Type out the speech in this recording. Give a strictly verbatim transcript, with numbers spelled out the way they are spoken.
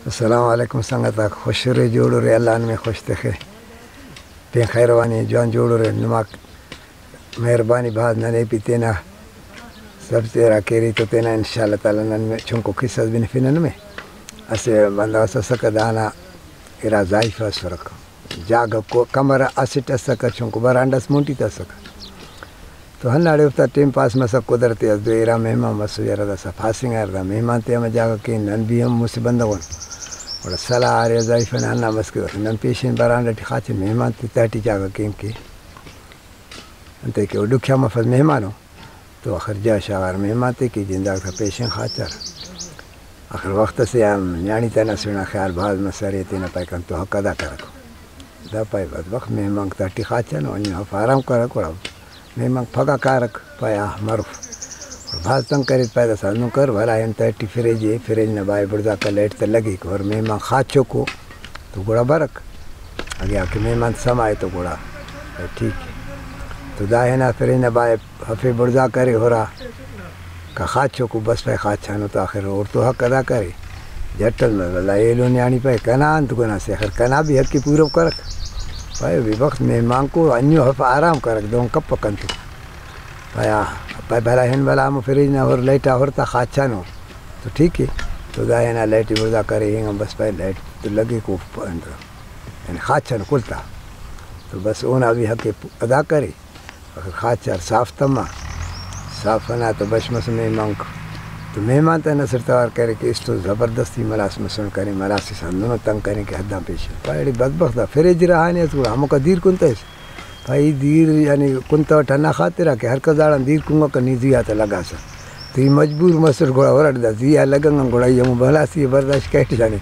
السلام علیکم سنگت آک، خوش ارے، جوڑ ارے، اللہ نمے خوش تخے۔ پین خیروانی جوان جوڑ ارے، نماک مہربانی بھاز، ننے بھی تینا سب تیرا کیری تو تینا انشاءاللہ تعالی نن چنکو قصہ اس بنفنہ نمے۔ اسہ بندغ اس اسکہ دانا ارا زائیفہ اسرک، جاگہ کو-، کمرہ اسٹ اسکہ، چنکو برانڈہ اس مونٹی تہ اسکہ۔ تو ہنداڑے اوفتا ٹائم پاس مسک، قدرتی اس دو ارا مہمان مسو، یرہ داسہ پھاسنگار، دا مہمان تے ہمہ جاگہ کین، نن بھی ہم مسہ بندغ ان۔ گڑا سلاہ ارے زائیفہ نا ہندا مس کہ نن پیشن برانڈہ ٹی خاچن، مہمان تے تہٹی جاگہ کین کہ انتئے کہ او ڈکھیا مفس مہمانو۔ تو آخر جا شاغار مہمان تے کہ جنداک تا پیشن خاچر۔ آخر وخت اسے آ نیاڑی تا نسل نا خیال بھاز مسرے، تینا پائے کنتو حق ادا کرک۔ دا پائے بدبخت مہمانک تہٹی خاچن، او نی اف آرام کرک، گڑا مہمانک پھگہ کارک، پائے آ مروف۔ گڑا بھاز تنگ کریر، پائے داسہ ہندن کر، بھلا ہن تہٹی فریج ءِ، فریج نا بائے بڑزاکا لائٹ تہ لگیک، اور مہمان خاچوکو تو گڑا برک۔ اگہ آ کہ مہمان سما ءِ تو گڑا ٹھیک ءِ۔ تو دا ہنا فریج نا بائے ہفے بڑزا کرے ہرا، کا خاچوکو بس پائے خاچانو تو آخر اوڑتو حق ادا کرے۔ جٹ اس مس ولدا ایلو نیاڑی پائے کنا انت گناہ سے، آخر کنا بھی حق ءِ پورو کرک۔ پائے بے بخت مہمانکو انیو ہف آرام کرک، دہن کپک انت۔ پایا، پائے بھلا ہن بھلا ہمو فریج نا ہر لائٹ آ ہر تا خاچانو۔ تو ٹھیک ءِ۔ تو دا ہنا لائٹ ءِ بڑزا کرے، اینگان بس پائے لائٹ تو لگیک او پ-، انت، یعنی خاچانو کل تا۔ تو بس اونا بھی حق ءِ پ-، ادا کرے۔ اخر خاچار صاف تما۔ صاف ہنا تو بش مس مہمانک۔ تو مہمان تا نسر توار کرے کہ استو زبردستی ملاس مسن کرے، ملاس اس ہندنو تنگ کرے کہ حداں پیش۔ پائے اڑے بدبخت دا فریج رہانے اس گڑا ہموکا دیر کن تس۔ پائے ای دیر یعنی کنتوٹ ہندا خاطرا کہ ہر کس داڑان دیر کنگکہ، نی زی آ تہ لگاسہ۔ تو ای مجبور مسٹ گڑا ہرٹ دا زی آ لگنگ آن گڑا ای ہمو بلاسی ءِ برداشت کریٹ یعنی۔